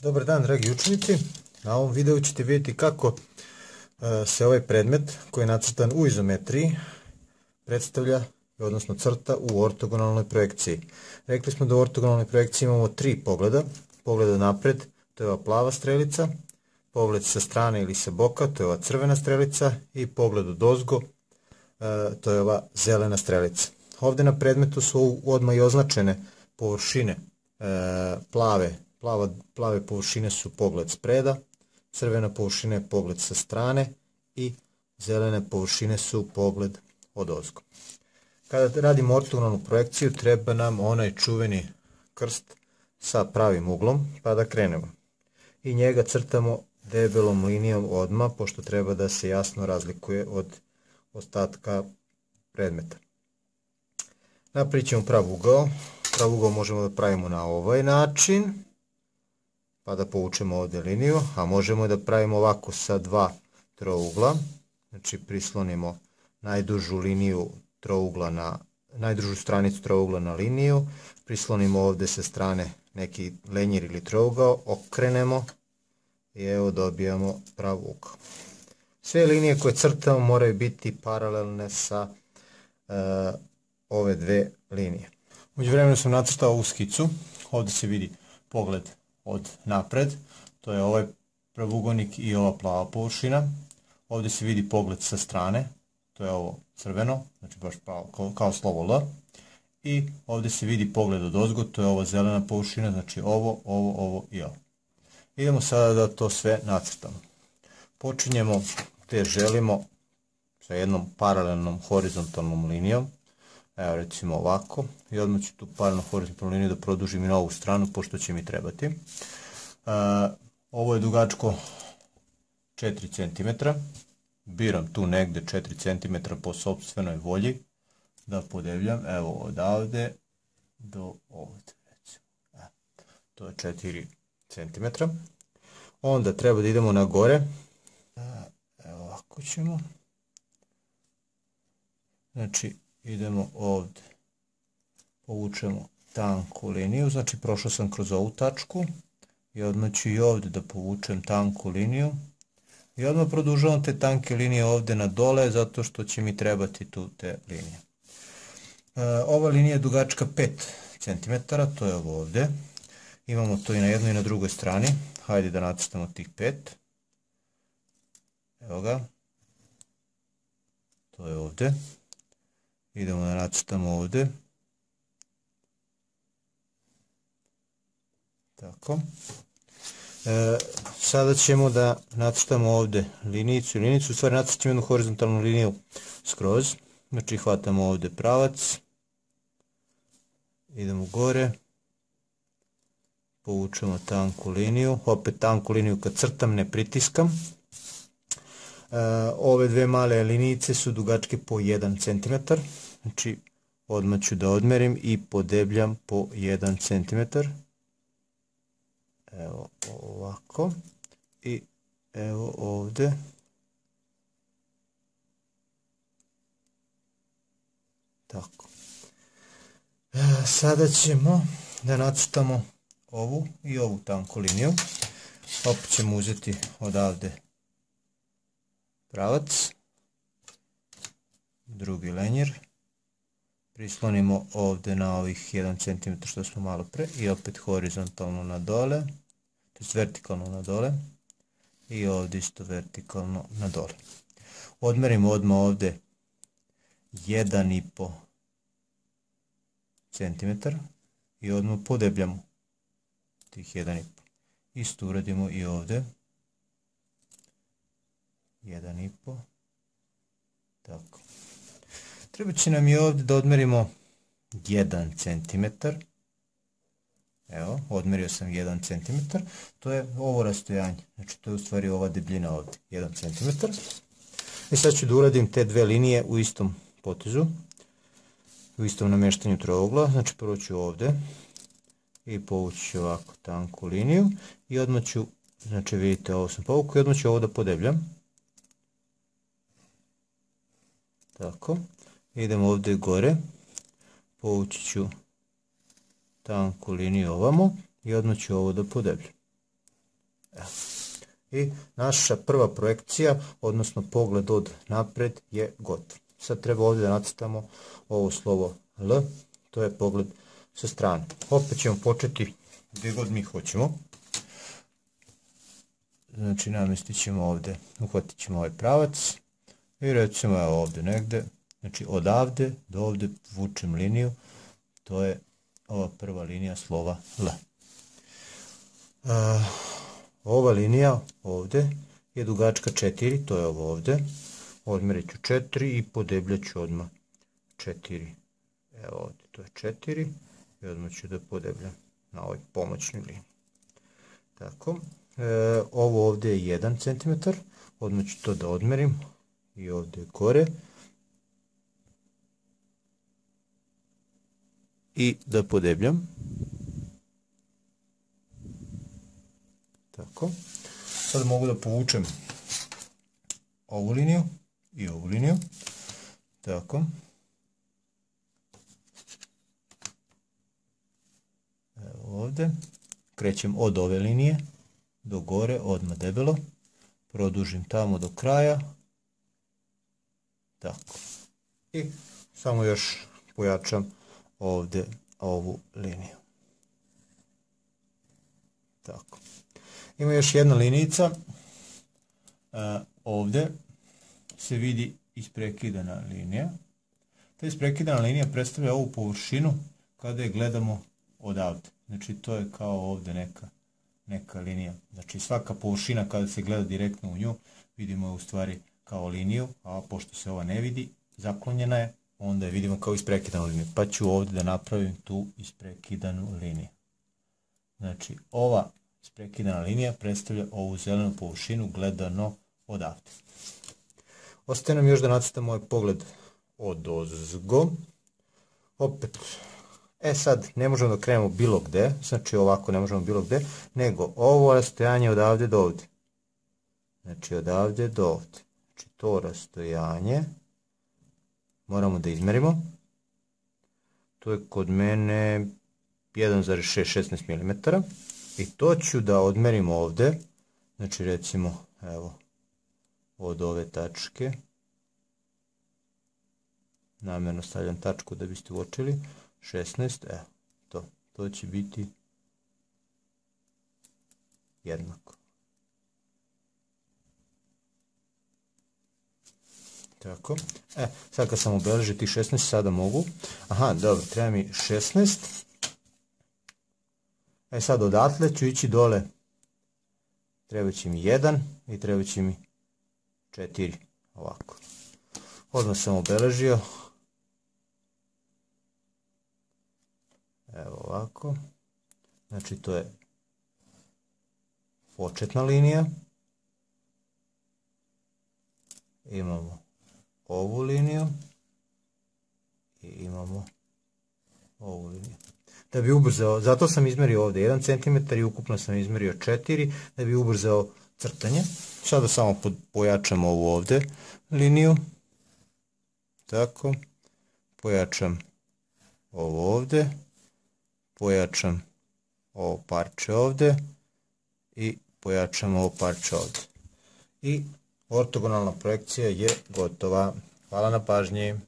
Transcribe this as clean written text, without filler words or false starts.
Dobar dan, dragi učenici. Na ovom videu ćete vidjeti kako se ovaj predmet koji je nacrtan u izometriji predstavlja, odnosno crta u ortogonalnoj projekciji. Rekli smo da u ortogonalnoj projekciji imamo tri pogleda. Pogled napred, to je ova plava strelica, pogled sa strane ili sa boka, to je ova crvena strelica, i pogled odozgo, to je ova zelena strelica. Ovdje na predmetu su odmah i označene površine plave površine su pogled spreda, crvena površina je pogled sa strane i zelene površine su pogled odozgo. Kada radimo ortogonalnu projekciju treba nam onaj čuveni krst sa pravim uglom, pa da krenemo. I njega crtamo debelom linijom odmah, pošto treba da se jasno razlikuje od ostatka predmeta. Napravit ćemo prav ugao. Prav ugao možemo da pravimo na ovaj način, pa da povučemo ovdje liniju, a možemo da pravimo ovako sa dva trougla. Znači prislonimo najdužu liniju trougla na najdužu stranicu trougla na liniju, prislonimo ovdje sa strane neki lenjer ili trougao, okrenemo i evo dobijamo prav ugao. Sve linije koje crtamo moraju biti paralelne sa ove dve linije. U međuvremenu sam nacrtao ovu skicu. Ovdje se vidi pogled od napred, to je ovaj pravougonik i ova plava površina. Ovdje se vidi pogled sa strane, to je ovo crveno, znači baš kao slovo L. I ovdje se vidi pogled odozgo, to je ova zelena površina, znači ovo i ovo. Idemo sada da to sve nacrtamo. Počinjemo te želimo sa jednom paralelnom horizontalnom linijom. Evo recimo ovako, i odmah ću tu paralelnu horizontalnu liniju da produžim i na ovu stranu, pošto će mi trebati. Ovo je dugačko 4 cm. Biram tu negde 4 cm po sopstvenoj volji da podebljam. Evo odavde do ovdje. To je 4 cm. Onda treba da idemo na gore. Evo ovako ćemo. Znači idemo ovdje, povučemo tanku liniju, znači prošao sam kroz ovu tačku i odmah ću i ovdje da povučem tanku liniju i odmah produžavam te tanke linije ovdje na dole, zato što će mi trebati tu te linije. Ova linija je dugačka 5 cm, to je ovo ovdje. Imamo to i na jednoj i na drugoj strani. Hajde da nacrtamo tih 5. Evo ga. To je ovdje. Idemo da nacrtamo ovdje. Tako. Sada ćemo da nacrtamo ovdje linijicu. U stvari nacrtamo jednu horizontalnu liniju skroz. Znači hvatamo ovdje pravac. Idemo gore. Povučemo tanku liniju. Opet tanku liniju kad crtam ne pritiskam. Ove dve male linijice su dugačke po 1 cm. Znači odmah ću da odmerim i podebljam po 1 cm. Evo ovako. I evo ovdje. Tako. Sada ćemo da nacrtamo ovu i ovu tanku liniju. Opet ćemo uzeti odavde pravac, drugi lenjer, prislonimo ovdje na ovih 1 cm što smo malo pre i opet horizontalno na dole, to je vertikalno na dole i ovdje isto vertikalno na dole. Odmerimo odmah ovdje 1,5 cm i odmah podebljamo tih 1,5. Isto uradimo i ovdje. 1,5. Tako. Treba će nam i ovdje da odmerimo 1 cm. Evo, odmerio sam 1 cm. To je ovo rastojanje. Znači to je u stvari ova debljina ovdje. 1 cm. I sad ću da uradim te dve linije u istom potezu. U istom namještanju trougla. Znači prvo ću ovdje. I povući ću ovako tanku liniju. I odmah ću, znači vidite ovo sam povukao i odmah ću ovo da podebljam. Tako, idemo ovdje gore, povući ću tanku liniju ovamo i odmah ću ovo da podebljam. I naša prva projekcija, odnosno pogled od napred je gotov. Sad treba ovdje da nacrtamo ovo slovo L, to je pogled sa strane. Opet ćemo početi gdje god mi hoćemo. Znači namjestit ćemo ovdje, uhvatit ćemo ovaj pravac i recimo ovdje negdje, znači odavde do ovdje vučem liniju, to je ova prva linija slova L. Ova linija ovdje je dugačka 4, to je ovo ovdje. Odmjerit ću 4 i podebljat ću odmah 4. Evo ovdje, to je 4 i odmah ću da podebljam na ovoj pomoćnoj liniji. Tako, ovo ovdje je 1 cm, odmah ću to da odmerim i ovdje gore. I da podebljam. Tako. Sad mogu da povučem ovu liniju i ovu liniju. Tako. Evo ovdje. Krećem od ove linije do gore, odmah debelo. Produžim tamo do kraja. Tako. I samo još pojačam ovdje ovu liniju. Tako. Ima još jedna linijica. Ovdje se vidi isprekidana linija. Ta isprekidana linija predstavlja ovu površinu kada je gledamo odavde. Znači to je kao ovdje neka linija. Znači svaka površina kada se gleda direktno u nju vidimo je u stvari kao liniju, a pošto se ova ne vidi, zaklonjena je, onda je vidimo kao isprekidanu liniju. Pa ću ovdje da napravim tu isprekidanu liniju. Znači ova isprekidana linija predstavlja ovu zelenu površinu gledano odavde. Ostaje nam još da nacrtamo ovaj pogled odozgo. Opet, sad ne možemo da krenemo bilo gde, znači ovako ne možemo bilo gde, nego ovo rastojanje odavde do ovdje. Znači odavde do ovdje. Znači to rastojanje moramo da izmerimo. To je kod mene 1,16 mm. I to ću da odmerim ovdje. Znači recimo, evo, od ove tačke. Namjerno stavljam tačku da biste uočili. 16, evo, to će biti jednako. Tako, sad kad sam obeležio tih 16, sada mogu. Aha, dobro, treba mi 16. Sad odatle ću ići dole. Treba će mi 1 i treba će mi 4. Ovako. Odmah sam obeležio. Evo ovako. Znači to je početna linija. Imamo ovu liniju. I imamo ovu liniju. Da bi ubrzao, zato sam izmerio ovdje 1 cm i ukupno sam izmerio 4, da bi ubrzao crtanje. Sada samo pojačam ovu ovdje liniju. Tako. Pojačam ovo ovdje. Pojačam ovo parče ovdje. I pojačam ovo parče ovdje. I ortogonalna projekcija je gotova. Hvala na pažnji.